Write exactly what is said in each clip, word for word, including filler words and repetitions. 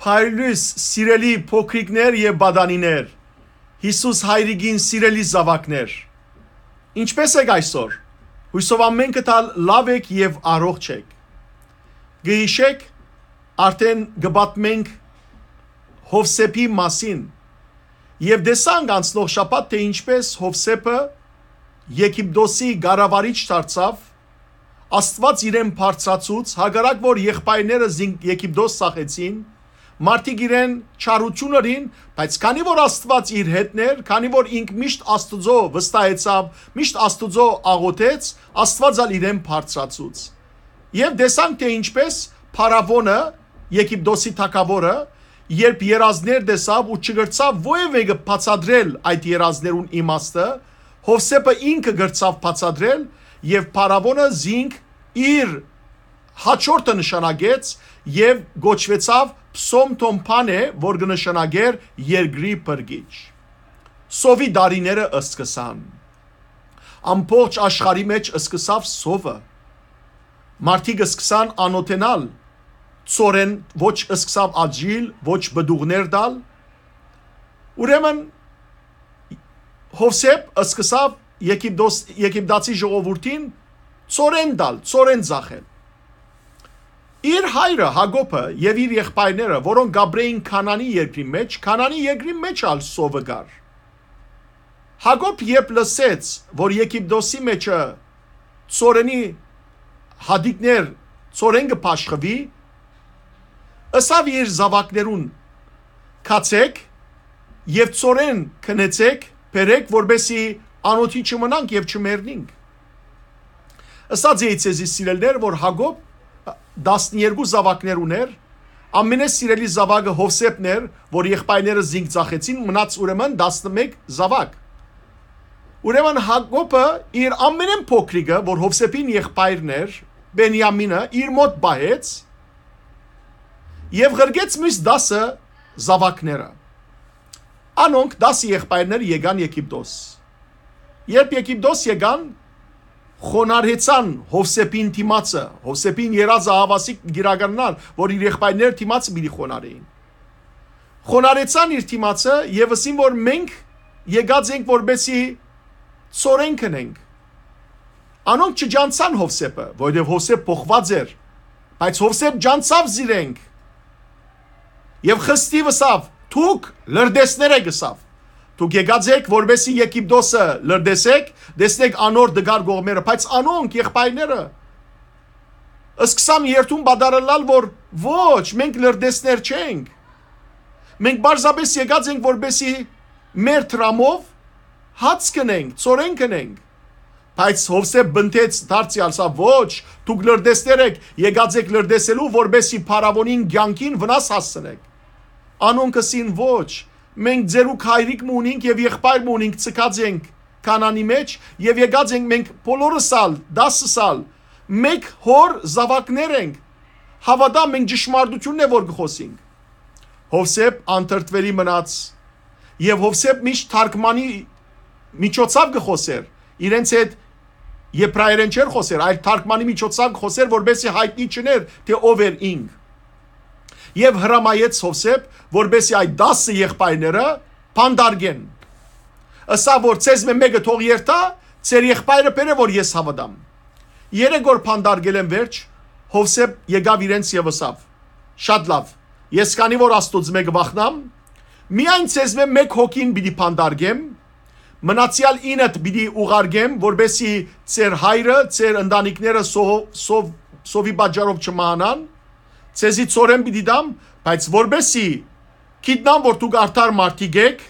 Փայլուս, սիրելի փոքրիկներ եւ պատանիներ, Յիսուս հայրիկին սիրելի զաւակներ, ինչպէս եք այսօր։ Յուսով ամէնքդ ալ լաւ եք եւ առողջ եք։ Կը յիշեք, արդէն կը պատմենք Յովսէփի մասին, եւ տեսանք անցնող շաբաթ, թէ ինչպէս Յովսէփը Եգիպտոսի կառավարիչ դարձաւ, Աստուած իրեն բարձրացուց, հակառակ որ եղբայրները զինք Եգիպտոս ծախեցին, մարդիկ իրեն չարութիւն ըրին, բայց քանի որ Աստուած իր հետն էր, քանի որ ինք միշտ Աստուծոյ վստահեցաւ, միշտ Աստուծոյ աղօթեց, Աստուած ալ իրեն բարձրացուց։ Եւ տեսանք, թէ ինչպէս փարաւոնը, Եգիպտոսի թագաւորը, երբ երազներ տեսաւ ու չկրցաւ որեւէ մէկը բացատրել այդ երազներուն իմաստը, Յովսէփը ինքը կրցաւ բացատրել, եւ փարաւոնը զինք իր հաջորդը նշանակեց եւ կոչուեցաւ Փսոմթոմփանէ, որ կը նշանակէր երկրի փրկիչ։ Սովի տարիները սկսան։ Ամբողջ աշխարհի մէջ սկսաւ սովը։ Մարդիկ սկսան անօթենալ, ծորեն ոչ սկսաւ աճիլ, ոչ պտուղներ տալ։ Ուրեմն Յովսէփ սկսաւ Եգիպտոս, Եգիպտացի ժողովուրդին ծորեն տալ, ծորեն ծախել։ Իր հայրը Յակոբը եւ իր եղբայրները, որոնք կ'ապրէին Քանանի երկրի մէջ, Քանանի երկրի մէջ ալ սովը կար։ Յակոբ երբ լսեց, որ Եգիպտոսի մէջը ծորենի հատիկներ, ծորեն կը բաշխուի, ըսաւ իր զաւակներուն. «Գացէք եւ ծորեն գնեցէք, բերէք, որպէսզի անօթի չմնանք եւ չմեռնինք»։ Ըսած էի ձեզի, սիրելիներ, որ Յակոբ տասներկու զաւակներ ունէր, ամենէ սիրելի զաւակը Յովսէփն էր, որ եղբայրները զինք ծախեցին, մնաց ուրեմն տասնմէկ զաւակ։ Ուրեմն Յակոբը իր ամենէն փոքրիկը, որ Յովսէփին եղբայրն էր, Բենիամինը, իր մօտ պահեց եւ ղրկեց միւս տասը զաւակները։ Անոնք, տասը եղբայրներ, եկան Եգիպտոս։ Երբ Եգիպտոս եկան, խոնարհեցան Յովսէփին դիմացը, Յովսէփին երազը հաւասիկ կիրականանար, որ իր եղբայրները դիմացը պիտի խոնարհեին։ Խոնարհեցան իր դիմացը եւ ըսին, որ մենք եկած ենք, որպեսզի ծորեն գնենք։ Անոնք չջանցան Յովսէփը, որովհետեւ Յովսէփ փոխուած էր, բայց Յովսէփ ջանցաւ զիրենք եւ խստիւ ըսաւ. «Դուք լրտեսներ եք», ըսաւ։ «Դուք եկած եք, որպեսզի Եգիպտոսը լրտեսեք, տեսնեք անոր դգար կողմերը», բայց անոնք, եղբայրները, սկսան երդում պատառելալ, որ «Ոչ, մենք լրտեսներ չենք։ Մենք պարզապէս եկած ենք, որպեսզի մեր դրամով հաց գնենք, ծորեն գնենք»։ Բայց Յովսէփ պնդեց դարձեալ, սա. «Ոչ, դուք լրտեսներ եք, եկած եք լրտեսելու, որպեսզի փարաւոնին կեանքին վնաս հասցնեք»։ Անոնք ըսին. «Ոչ, մենք ձերուկ հայրիկ մը ունինք եւ եղբայր մը ունինք, ցկած ենք Քանանի մէջ եւ եկած ենք մենք բոլորս ալ, տասս ալ, մէկ հօր զաւակներ ենք։ Հաւատա, մենք ճշմարտութիւնն է որ կը խոսինք»։ Յովսէփ անդրդուելի մնաց, եւ Յովսէփ միշտ թարգմանի միջոցով կը խօսէր, իրենց հետ եբրայերէն չէր խօսեր, այլ թարգմանի միջոցով կը խօսէր, որպեսզի յայտնի չըներ, թէ ով էր ինք։ Եւ հրամայեց Յովսէփ, որպեսզի այդ տասը եղբայրները բանտարկեն։ Ըսաւ, որ ձեզմէ մէկը թող երթայ, ձեր եղբայրը բերէ, որ ես հաւատամ։ Երեք օր բանտարկելէն վերջ Յովսէփ եկաւ իրենց եւ ըսաւ. «Շատ լաւ, ես քանի որ Աստուծմէ կը վախնամ, միայն ձեզմէ մէկ հոգին պիտի բանտարկեմ, մնացեալ ինդ պիտի ուղարկեմ, որպեսզի ձեր հայրը, ձեր ընտանիքները սով, սով, սովի պատճառով չմահանան, ձեզի ծորեն պիտի տամ, բայց որպեսզի գիտնամ, որ դուք արդար մարդիկ եք,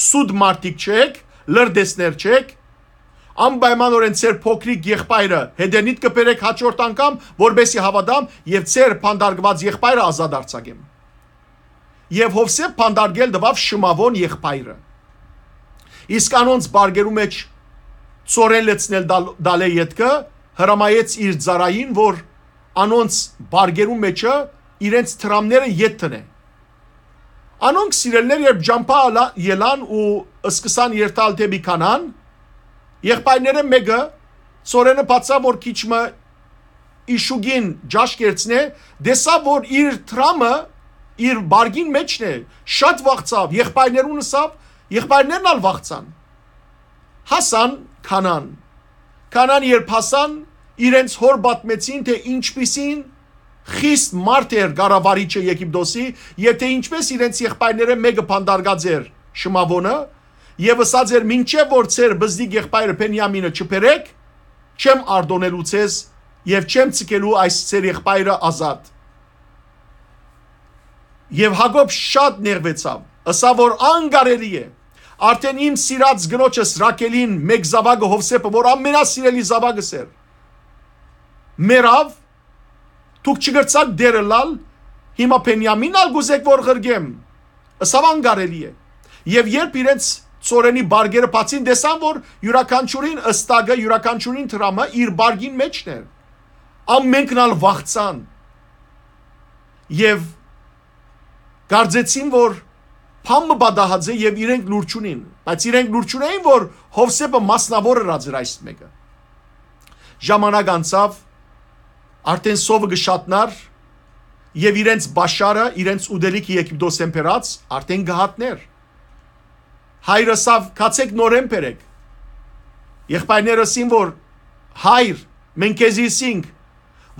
սուտ մարդիկ չեք, լրտեսներ չեք, անպայմանօրէն ձեր փոքրիկ եղբայրը հետենիդ կը բերեք հաջորդ անգամ, որպեսզի հաւատամ եւ ձեր բանտարկուած եղբայրը ազատ արձակեմ»։ Եւ Յովսէփ բանտարկել տուաւ շմաւոն եղբայրը։ Իսկ անոնց բարկերու մէջ ծորեն լեցնել տալ-, տալէ ետքը հրամայեց իր ծառային, որ անոնց բարկերու մէջը իրենց դրամները ետ դնէ։ Անոնք, սիրելիներ, երբ ճամբայ ալա-, ելան ու սկսան երթալ դէպի Քանան, եղբայրները մէկը, ծորենը բացաւ, որ քիչ մը իշուկին ճաշ կերցնէ, տեսաւ, որ իր դրամը իր բարգին մէջն է, շատ վախցաւ, եղբայրներուն ըսաւ, եղբայրներն ալ վախցան։ Հասան Քանան։ Քանան երբ հասան, իրենց հօր պատմեցին, թէ ինչպիսին խիստ մարդ էր կառավարիչը Եգիպտոսի, եւ թէ ինչպես իրենց եղբայրներէն մէկը բանտարկած էր Շմաւոնը, եւ ըսած էր. «Մինչեւ որ ձեր բզդիկ եղբայրը Բենիամինը չբերէք, չեմ արտօնելու ձեզ եւ չեմ ցկելու այս ձեր եղբայրը ազատ»։ Եւ Յակոբ շատ նեղուեցաւ, ըսաւ որ անկարելի է։ Արդէն իմ սիրած կնոջս Ռաքելին մէկ զաւակը Յովսէփը, որ ամենասիրելի զաւակս էր, մեռաւ, դուք չկրցաք դեր ըլլալ, հիմա Բենիամին ալ կուզեք որ ղրկեմ։ Ըսաւ անկարելի է։ Եւ երբ իրենց ծորենի բարգերը բացին, տեսան որ յուրաքանչիւրին ըստակը, յուրաքանչիւրին դրամը իր բարգին մէջն էր։ Ամենքն ալ վախցան եւ կարծեցին որ բան մը պատահած է եւ իրենք լուր չունին, բայց իրենք լուր չունեին որ Յովսէփը մասնաւոր ըրած էր այս մէկը։ Ժամանակ անցաւ, արդէն սովը կը շատնար եւ իրենց պաշարը, իրենց ուտելիքը Եգիպտոսէն բերած արդէն կը հատնէր։ Հայրը ըսաւ. «Գացէք նորէն բերէք»։ Եղբայրները ըսին որ. «Հայր, մենք քեզի ըսինք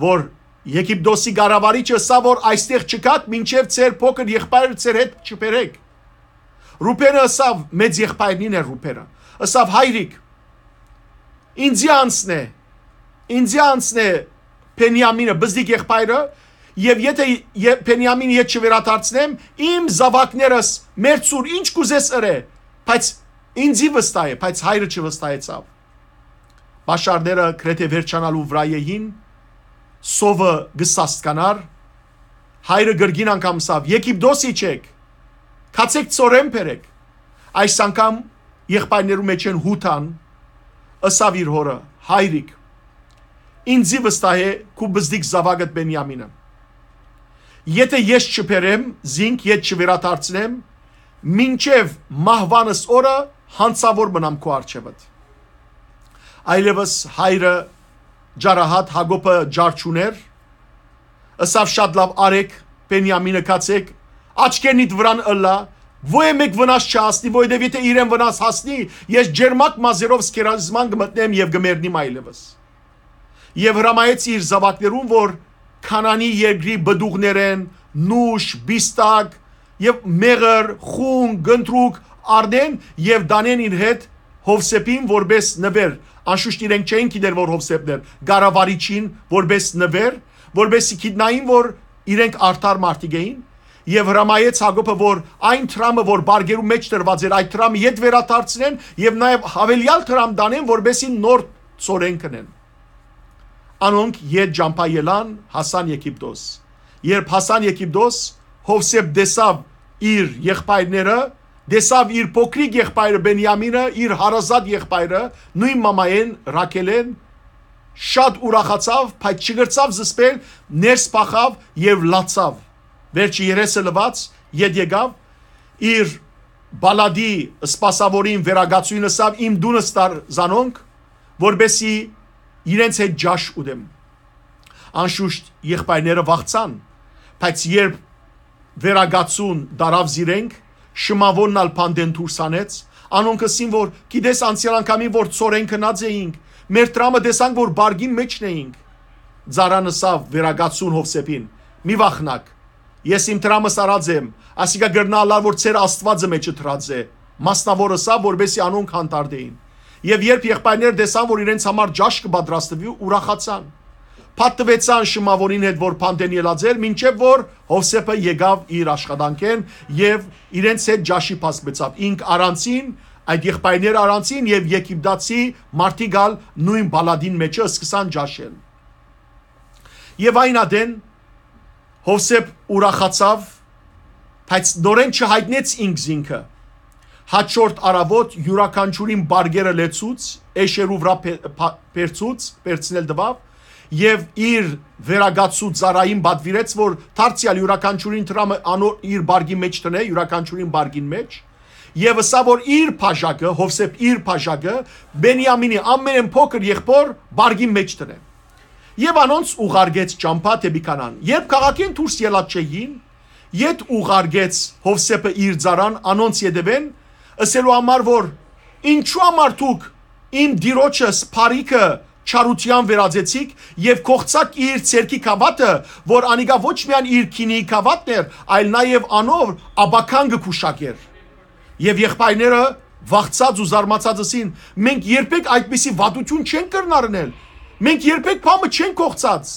որ Եգիպտոսի կառավարիչը ըսաւ որ այստեղ չգաք մինչեւ ձեր փոքր եղբայրը ձեր հետ չբերէք»։ Ռուբենը ըսաւ, մեծ եղբայրնին էր Ռուբենը, ըսաւ. «Հայրիկ, ինձի անցնէ, ինձի անցնէ Բենիամինը, բզդիկ եղբայրը, եւ եթէ ե-, Բենիամին ետ չվերադարձնեմ, իմ զաւակներս մերցուր, ինչ կուզես ըրէ, բայց ինձի վստահէ»։ Բայց հայրը չվստահեցաւ։ Պաշարները գրեթէ վերջանալու վրայ էին, սովը կը սաստկանար, հայրը կրկին անգամ ըսաւ. «Եգիպտոս իջեք, գացէք ծորեն բերեք»։ Այս անգամ եղբայրներու մէջէն Յուդան ըսաւ իր հօրը. «Հայրիկ, ինձի վստահէ քու բզդիկ զաւակդ Բենիամինը։ Եթէ ես չբերեմ զինք, ետ չվերադարձնեմ, մինչեւ մահուանս օրը յանցաւոր մնամ քու առջեւդ»։ Այլեւս հայրը ջարահատ Յակոբը ջար չունէր, ըսաւ. «Շատ լաւ, արեք, Բենիամինը գացէք, աչքերնիդ վրան ըլլայ, ոեւէ մէկ վնաս չհասնի, որովհետեւ եթէ իրեն վնաս հասնի, ես ջերմակ մազերով սքերազման կը մտնեմ եւ կը մեռնիմ այլեւս»։ Եւ հրամայեց իր զաւակներուն որ Քանանի երկրի պտուղներէն նուշ, պիստակ եւ մեղր, խուն, կնդրուկ առնեն եւ տանեն իր հետ Յովսէփին որպէս նուէր։ Անշուշտ իրենք չէին գիտեր որ Յովսէփն էր, կառավարիչին որպէս նուէր, որպէսզի գիտնային որ իրենք արդար մարդիկ էին, եւ հրամայեց Յակոբը որ այն դրամը որ բարգերու մէջ դրուած էր, այդ դրամը ետ վերադարձնեն եւ նաեւ յաւելեալ դրամ տանեն որպէսզի նոր ծորեն կնեն։ Անոնք ետ ճամբայ ելան, հասան Եգիպտոս։ Երբ հասան Եգիպտոս, Յովսէփ տեսաւ իր եղբայրները, տեսաւ իր փոքրիկ եղբայրը Բենիամինը, իր հարազատ եղբայրը, նոյն մամայէն Ռաքելէն, շատ ուրախացաւ, բայց չկրցաւ զսպել, ներս փախաւ եւ լացաւ։ Վերջը երեսը լուած ետ եկաւ, իր Բալադի սպասաւորին վերակացուին ըսաւ. «Իմ տունս տար զանոնք, որպէսզի իրենց հետ ճաշ ուտեմ»։ Անշուշտ եղբայրները վախցան, բայց երբ վերակացուն տարաւ զիրենք, Շմաւոնն ալ բանտէն դուրս հանեց։ Անոնք ըսին որ. «Գիտես անցեալ անգամին որ ծորեն գնած էինք, մեր դրամը տեսանք որ բարգին մէջն էինք»։ Ծառան ըսաւ վերակացուն Յովսէփին. «Մի վախնաք, ես իմ դրամս առած եմ, ասիկա կրնայ ըլլալ որ ձեր Աստուածը մէջը դրած է»։ Մասնաւոր ըսաւ որպէսզի անոնք հանդարտէին։ Եւ երբ եղբայրները տեսան որ իրենց համար ճաշ կը պատրաստուի, ուրախացան։ Պատտուեցան Շմաւոնին հետ որ բանտէն ելած էր, մինչեւ որ Յովսէփը եկաւ իր աշխատանքէն եւ իրենց հետ ճաշի բազմեցաւ։ Ինք առանցին, այդ եղբայրները առանցին եւ եգիպտացի մարդիկ ալ նոյն Բալադին մէջը սկսան ճաշել։ Եւ այն ատեն Յովսէփ ուրախացաւ, բայց նորէն չյայտնեց ինքզինքը։ Յաջորդ առաւօտ յուրաքանչիւրին բարգերը լեցուց, էշերու վրայ փե-, փա-, փերցուց, փերցնել տուաւ, եւ իր վերակացու ծառային պատուիրեց որ դարձեալ յուրաքանչիւրին դրամը անոր իր բարգի մէջ դնէ, յուրաքանչիւրին բարգին մէջ, եւ ըսաւ որ իր բաժակը, Յովսէփ իր բաժակը, Բենիամինի ամենէն փոքր եղբոր բարգին մէջ դնէ։ Եւ անոնց ուղարկեց ճամբայ դէպի Քանան։ Երբ քաղաքէն դուրս ելած չէին, ետ ուղարկեց Յովսէփը իր ծառան անոնց ետեւէն, ըսելու համար որ, «Ինչու համար դուք իմ տիրոջս բարիքը չարութեան վերածեցիք եւ կոխցաք իր ձեռքի գաւաթը, որ անիկա ոչ միայն իր գինիի գաւաթն էր, այլ նաեւ անոր ապագան կը գուշակէր»։ Եւ եղբայրները վախցած ու զարմացած ըսին. «Մենք երբեք այդպիսի վատութիւն չենք կրնար ընել։ Մենք երբեք բանը չենք կոխցած»։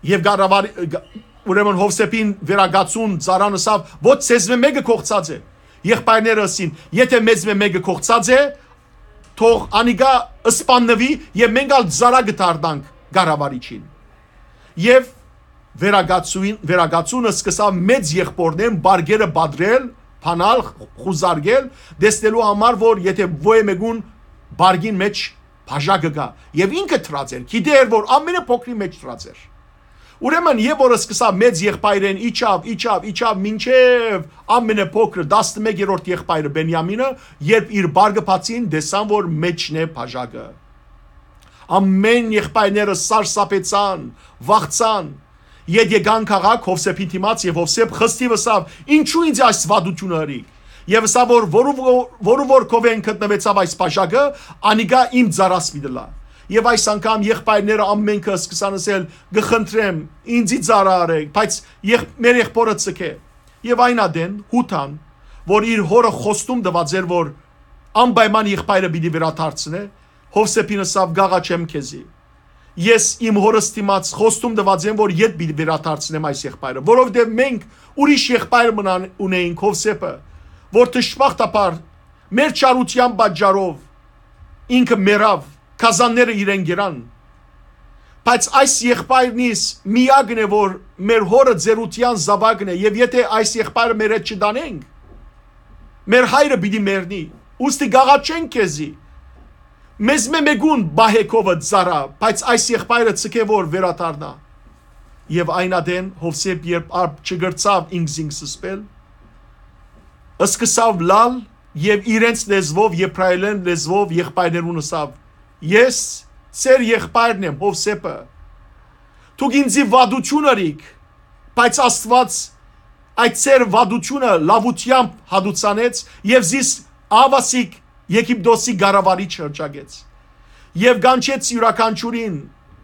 Եւ կառավար-, գ-, ուրեմն Յովսէփին վերակացուն ծառան ըսաւ. «Ոչ, ձեզմէ մէկը կոխցած է»։ Եղբայրները ըսին. «Եթէ մեզմէ մէկը կոխցած է, թող անիկա սպաննուի եւ մենք ալ ծառայ կը դառնանք կառավարիչին»։ Եւ վերակացուին, վերակացունը սկսաւ մեծ եղբորներն պարգերը պատրել, բանալ, խուզարկել, տեսնելու համար որ եթէ ոյ մեկուն պարգին մէջ բաժակը կայ։ Եւ ինքը դրած էր, գիտեր որ ամենը փոքրի մէջ դրած էր։ Ուրեմն եւ որ սկսաւ մեծ եղբայրեն իջաւ, իջաւ, իջաւ մինչեւ ամենը փոքրը, տասնմեկերորդ եղբայրը Բենիամինը, երբ իր պարգը բացին, տեսան որ մէջն է բաժակը։ Ամեն եղբայրները սարսափեցան, վախցան։ Ետ եկան քաղաք Յովսէփին դիմաց եւ Յովսէփ խստիւ ըսաւ. «Ինչու ինձ այս վատութիւնը ըրիք»։ Եւ ըսաւ որ որու, որու որ քովէն գտնուեցաւ այս բաժակը, անիկա իմ ծառաս պիտի լայ։ Եւ այս անգամ եղբայրները ամենքը սկսան ըսել. «Կը խնդրեմ, ինձի ծառայ արեք, բայց եղ-, մեր եղբորը ցկէ»։ Եւ այն ատեն Յուդան, որ իր հօրը խոստում տուած էր որ անպայման եղբայրը պիտի վերադարձնէ, Յովսէփին ըսաւ. «Կ'աղաչեմ քեզի, ես իմ հօրս դիմաց խոստում տուած եմ որ ետ պիտի վերադարձնեմ այս եղբայրը, որովհետեւ մենք ուրիշ եղբայր մնան ունեինք, Յովսէփը, որ դժբախտաբար մեր չարութեան պատճառով ինքը մեռաւ, գազանները իրեն գերան։ Բայց այս եղբայրնիս միակն է որ մեր հօրը ծերութեան զաւակն է, եւ եթէ այս եղբայրը մեր հետ չտանենք, մեր հայրը պիտի մեռնի։ Ուստի կ'աղաչենք քեզի, մեզմէ մէկուն պահէ քովը ծառայ, բայց այս եղբայրը ցկէ որ վերադառնայ»։ Եւ այն ատեն Յովսէփ, երբ արդ չկրցաւ ինքզինք զսպել, սկսաւ լալ եւ իրենց լեզուով, եբրայերէն լեզուով եղբայրներուն ըսաւ. «Ես ձեր եղբայրն եմ, Յովսէփը։ Դուք ինձի վատութիւն ըրիք, բայց Աստուած այդ ձեր վատութիւնը լաւութեամբ հատուցանեց եւ զիս ահաւասիկ Եգիպտոսի կառավարիչ հրճակեց։ Եւ կանչեց յուրաքանչիւրին,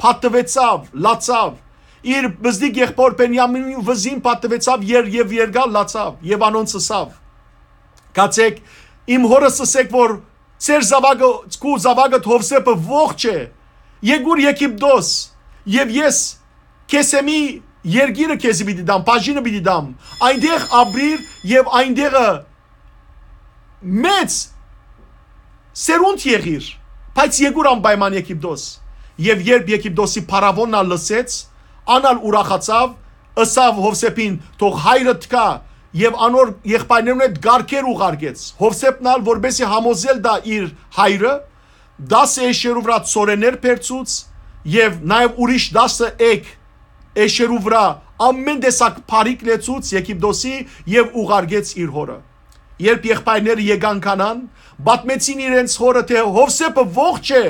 պատտուեցաւ, լացաւ, իր բզդիկ եղբոր Բենիամինի վզին պատտուեցաւ եր-, եւ երկար լացաւ եւ անոնց ըսաւ. «Գացեք, իմ հօրս ըսեք որ ձեր զաւակը, քու զաւակդ Յովսէփը ողջ է, եկուր Եգիպտոս, եւ ես Քեսեմի երկիրը քեզի պիտի տամ, բաժինը պիտի տամ, այնտեղ ապրիր եւ այնտեղը մեծ սերունդ եղիր, բայց եկուր անպայման Եգիպտոս»։ Եւ երբ Եգիպտոսի փարաւոնն ալ լսեց, ան ալ ուրախացաւ, ըսաւ Յովսէփին. «Թող հայրդ գայ», եւ անոր եղբայրներուն հետ կարգեր ուղարկեց։ Յովսէփն ալ, որպեսզի համոզել տայ իր հայրը, տասը էշերու վրայ ցորեններ բերցուց եւ նաեւ ուրիշ տասը էգ էշերու վրայ ամեն տեսակ բարիք լեցուց Եգիպտոսի եւ ուղարկեց իր հօրը։ Երբ եղբայրները եկան Քանան, պատմեցին իրենց հօրը, թէ Յովսէփը ողջ է,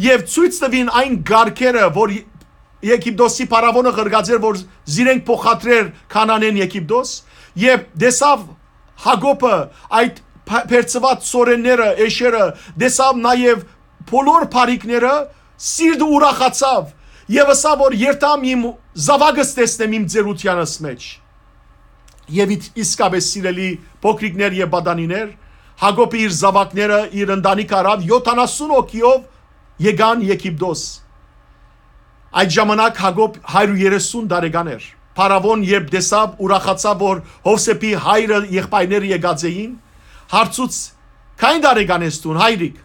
եւ ցոյց տուին այն կարգերը, որ Եգիպտոսի փարաւոնը ղրկած էր, որ զիրենք փոխադրեր Քանանէն Եգիպտոս, եւ տեսաւ Յակոբը այդ փ-, բերցուած ցորենները, էշերը, տեսաւ նաեւ բոլոր բարիքները, սիրտը ուրախացաւ եւ ըսաւ որ երթամ իմ զաւակս տեսնեմ իմ ծերութեանս մէջ։ Եւ իթ-, իսկապէս, սիրելի փոքրիկներ եւ պատանիներ, Յակոբը իր զաւակները, իր ընտանիքը առաւ, յոթանասուն հոգիով եկան Եգիպտոս։ Այդ ժամանակ Յակոբ հարիւր երեսուն տարեկան էր։ Փարաւոն երբ տեսաւ, ուրախացաւ որ Յովսէփի հայրը, եղբայրները եկած էին, հարցուց. «Քանի՞ տարեկան ես դուն, հայրիկ»։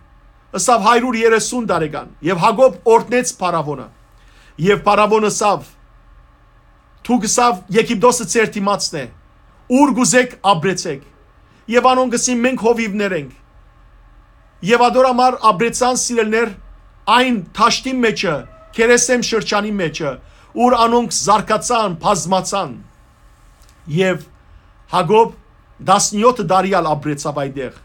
Ըսաւ. «Հարիւր երեսուն տարեկան»։ Եւ Յակոբ օրհնեց փարաւոնը։ Եւ փարաւոն ըսաւ. «Դուք», ըսաւ, «Եգիպտոսը ձեր դիմացն է, ուր կ'ուզէք ապրեցէք»։ Եւ անոնք ըսին. «Մենք հովիւներ ենք»։ Եւ ատոր համար ապրեցան, սիրելիներ, այն դաշտին մէջը, Քերեսեմ շրջանի մէջը, ուր անոնք զարգացան, բազմացան։ Եւ Յակոբ տասնեօթը տարի ալ ապրեցաւ այնտեղ։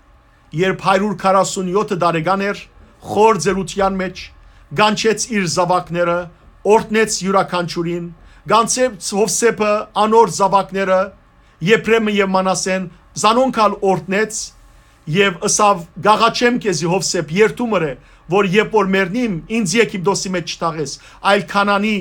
Երբ հարիւր քառասունեօթը տարեկան էր, խոր ծերութեան մէջ, կանչեց իր զաւակները, օրհնեց յուրաքանչիւրին, Գանձեց Յովսէփը անոր զաւակները, Եփրեմը եւ Մանասեն, զանոնք ալ օրհնեց եւ ըսաւ. «Կ'աղաչեմ քեզի, Յովսէփ, երդու մըր է, որ երբ որ մեռնիմ, ինձ Եգիպտոսի մէջ չթաղես, այլ Քանանի,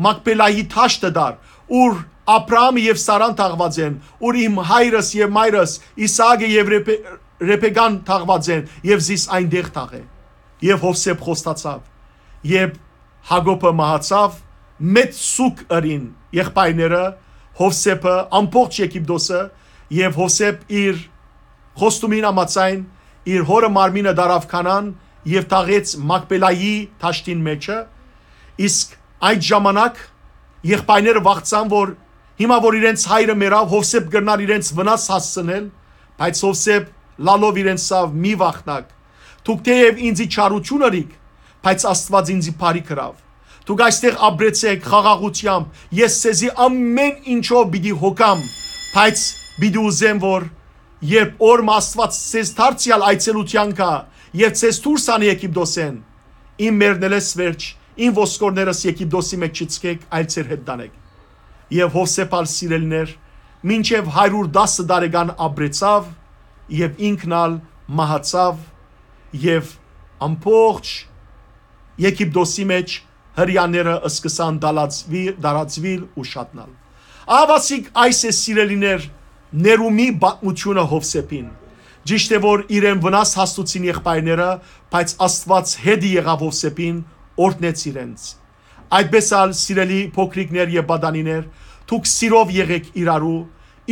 Մակպելայի դաշտը տար, ուր Աբրահամը եւ Սարան թաղուած են, ուր իմ հայրս եւ մայրս Իսահակը եւ Ռեփե-, Ռեփեկան թաղուած են, եւ զիս այնտեղ թաղէ»։ Եւ Յովսէփ խոստացաւ։ Երբ Յակոբը մահացաւ, մեծ սուգ ըրին եղբայրները, Յովսէփը, ամբողջ Եգիպտոսը, եւ Յովսէփ իր խոստումին համաձայն իր հօրը մարմինը տարաւ Քանան եւ թաղեց Մակպելայի դաշտին մէջը, իսկ այդ ժամանակ եղբայրները վախցան, որ հիմա որ իրենց հայրը մեռաւ, Յովսէփ կրնար իրենց վնաս հասցնել, բայց Յովսէփ լալով իրենց սաւ. «Մի վախնաք, դուք թէեւ ինձի չարութիւն ըրիք, բայց Աստուած ինձի բարի գրաւ։ Դուք այստեղ ապրեցէք խաղաղութեամբ, ես ձեզի ամէն ինչով պիտի հոգամ, բայց պիտի ուզեմ, որ երբ օր մը Աստուած ձեզ դարձեալ այցելութեան գայ եւ ձեզ դուրս անէ Եգիպտոսէն, իմ մեռնելէս վերջ, իմ ոսկորներս Եգիպտոսի մէջ չցկէք, այլ ձեր հետ տանէք»։ Եւ Յովսէփ ալ, սիրելիներ, մինչեւ հարիւր տասը տարեկան ապրեցաւ եւ ինքն ալ մահացաւ, եւ ամբողջ Եգիպտոսի մէջ հրեաները սկսան դալածվի-, դարածուիլ ու շատնալ։ Ահա ասիկ այս է, սիրելիներ, ներումի պատմութիւնը Յովսէփին։ Ճիշդ է, որ իրեն վնաս հասցուցին եղբայրները, բայց Աստուած հետը եղաւ Յովսէփին, օրհնեց իրենց։ Այդպէս ալ, սիրելի փոքրիկներ եւ պատանիներ, դուք սիրով եղէք իրարու,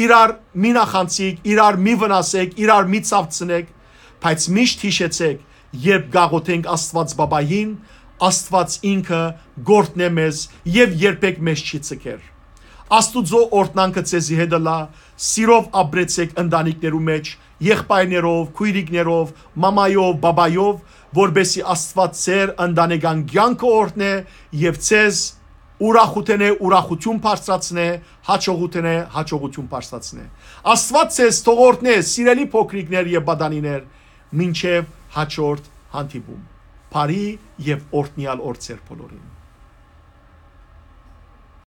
իրար մի նախանցիք, իրար մի վնասեք, իրար մի ցաւցնեք, բայց միշտ յիշեցեք, երբ կ'աղօթենք Աստուած Պապային, Աստուած ինքը կ'օրհնէ մեզ եւ երբեք մեզ չի ձգեր։ Աստուծոյ օրհնանքը ձեզի հետ ըլլայ, սիրով ապրեցեք ընտանիքներու մէջ, եղբայրներով, քոյրիկներով, մամայով, պապայով, որպէսզի Աստուած ձեր ընտանեկան կեանքը օրհնէ եւ ձեզ ուրախութենէ ուրախութիւն բարձրացնէ, յաջողութենէ յաջողութիւն բարձրացնէ։ Աստուած ձեզ թող օրհնէ, սիրելի փոքրիկներ եւ պատանիներ, մինչեւ յաջորդ հանդիպում։ Բարի եւ օրհնեալ օր ձեր բոլորին։